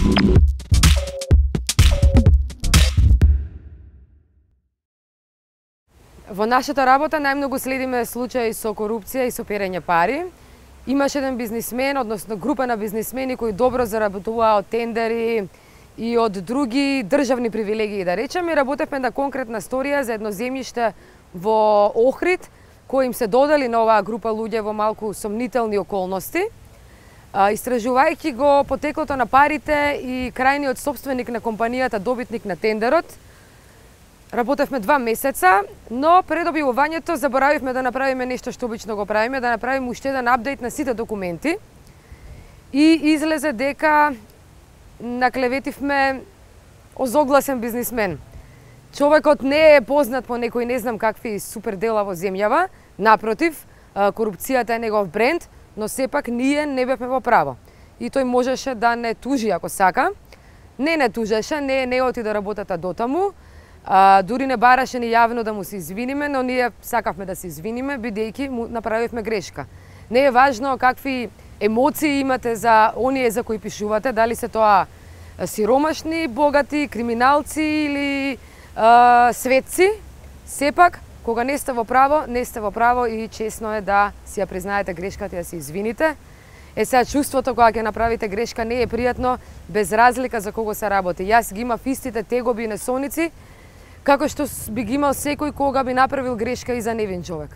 Во нашата работа најмногу следиме случаи со корупција и со перење пари. Имаше еден бизнисмен, односно група на бизнисмени кои добро заработуваа од тендери и од други државни привилегии, да речеме. Работевме на конкретна сторија за едно земјиште во Охрид, кои им се додели на оваа група луѓе во малку сомнителни околности. Истражувајќи го потеклото на парите и крајниот собственик на компанијата, добитник на тендерот, работевме 2 месеца, но пред објавувањето заборавивме да направиме нешто што обично го правиме, да направиме уште еден апдејт на сите документи. И излезе дека наклеветивме озогласен бизнисмен. Човекот не е познат по некои не знам какви супер дела во земјава, напротив, корупцијата е негов бренд, но сепак ние не бевме во право. И тој можеше да не тужи ако сака. Не тужеше, не оти да работата дотаму. Дури не бараше ни јавно да му се извиниме, но ние сакавме да се извиниме, бидејќи му направивме грешка. Не е важно какви емоции имате за оние за кои пишувате, дали се тоа сиромашни, богати, криминалци или светци. Сепак, кога не сте во право и чесно е да си ја признаете грешката и да се извините. Сега чувството кога ќе направите грешка не е пријатно, без разлика за кого се работи. Јас ги имав истите тегоби и несоници, како што би ги имал секој кога би направил грешка и за невин човек.